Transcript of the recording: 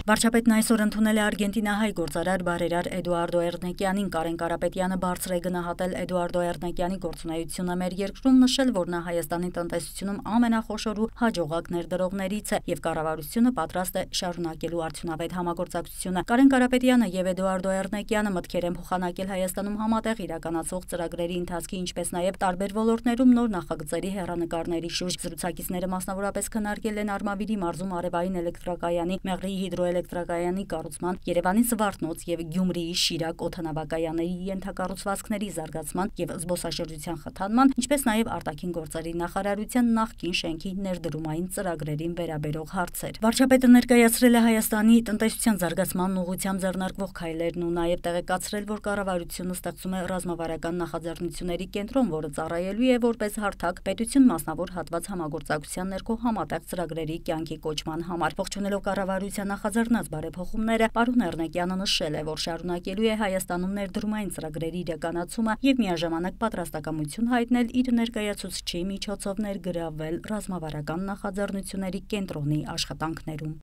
Վարչապետն այսօր ընդունել է արգենտինահայ գործարար բարերար Էդուարդո Էրնեկյանին։ Կարեն Կարապետյանը բարձր է գնահատել Էդուարդո Էրնեկյանի գործունեությունը մեր երկրում, նշել, որ նա Հայաստանի տնտեսությունում ամենախոշոր ու հաջողակ ներդրողներից է եւ կառավարությունը պատրաստ է շարունակելու արդյունավետ համագործակցությունը։ Կարեն Կարապետյանը եւ Էդուարդո Էրնեկյանը մտքեր են փոխանակել Հայաստանում համատեղ իրականացվող ծրագրերի ընթացքի, ինչպես նաեւ տարբեր ոլորտներում նոր նախագծերի հեռանկարների շուրջ։ Զրուցակիցները մասնավորապես քննարկել են Արմավիրի մարզում արևային էլեկտրակայանի, Մեղրիի հիդրոէլեկտրակայանի կառուցման, Երևանի Զվարթնոց եւ Գյումրիի Շիրակ օդանավակայանների ենթակառուցվածքների զարգացման եւ զբոսաշրջության խթանման, ինչպես նաեւ արտաքին գործերի նախարարության նախկին շենքի ներդրումային ծրագրերին վերաբերող հարցեր։ Վարչապետը ներկայացրել է Հայաստանի տնտեսության զարգացման ուղղությամբ ձեռնարկվող քայլերն ու նաեւ տեղեկացրել, որ կառավարությունը ստեղծում է ռազմավարական նախաձեռնությունների կենտրոն, որը ծառայելու է որպես հարթակ պետություն մասնավոր հատված համագործակցության ներքո համատեղ ծրագրերի կյանքի կոչման համար։ Ողջունելով կառավարության նախաձեռնած բարեփոխումները, պարոն Էրնեկյանը նշել է, որ շարունակելու է Հայաստանում ներդրումային ծրագրերի իրականացումը եւ միաժամանակ պատրաստակամություն հայտնել իր ներկայացուցչի միջոցով ներգրավվել ռազմավարական նախաձեռնությունների կենտրոնի աշխատանքներում։